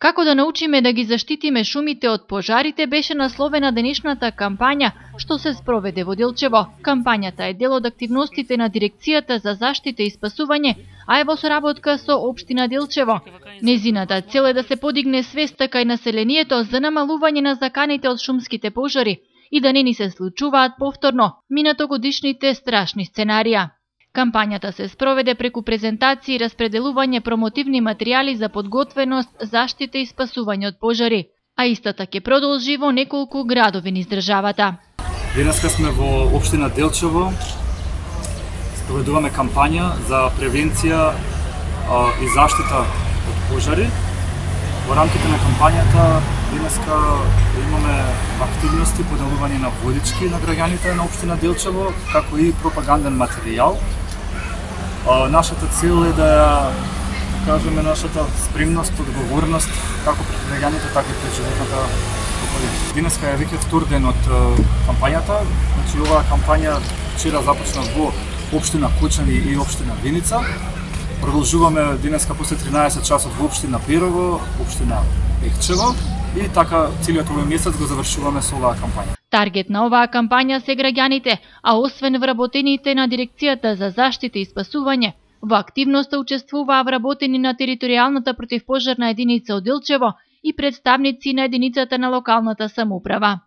Како да научиме да ги заштитиме шумите од пожарите беше насловена денешната кампања што се спроведе во Делчево. Кампањата е дел од активностите на Дирекцијата за заштита и спасување, а е во соработка со општина Делчево. Незината цел е да се подигне свеста кај населението за намалување на заканите од шумските пожари и да не ни се случуваат повторно минатогодишните страшни сценарија. Кампањата се спроведе преку презентации и распределување промотивни материјали за подготвеност, заштита и спасување од пожари, а истата ќе продолжи во неколку градови низ државата. Денеска сме во општина Делчево. Спроведуваме кампања за превенција и заштита од пожари. Во рамките на кампањата денеска имаме активности поделување на водички на граѓаните на општина Делчево, како и пропаганден материјал. Нашата цел е да кажеме нашата спремност, одговорност како пред граѓаните, така и пред животната околина. Денеска е веќе втор ден од кампањата. Значи оваа кампања вчера започна во општина Кочани и општина Виница. Продолжуваме денеска после 13 часот во општина Берово, општина Ехчево и така целиот овој месец го завршуваме со оваа кампања. Таргет на оваа кампања се граѓаните, а освен вработените на Дирекцијата за заштита и спасување, во активноста учествуваа вработени на територијалната противпожарна единица од Делчево и представници на единицата на локалната самоуправа.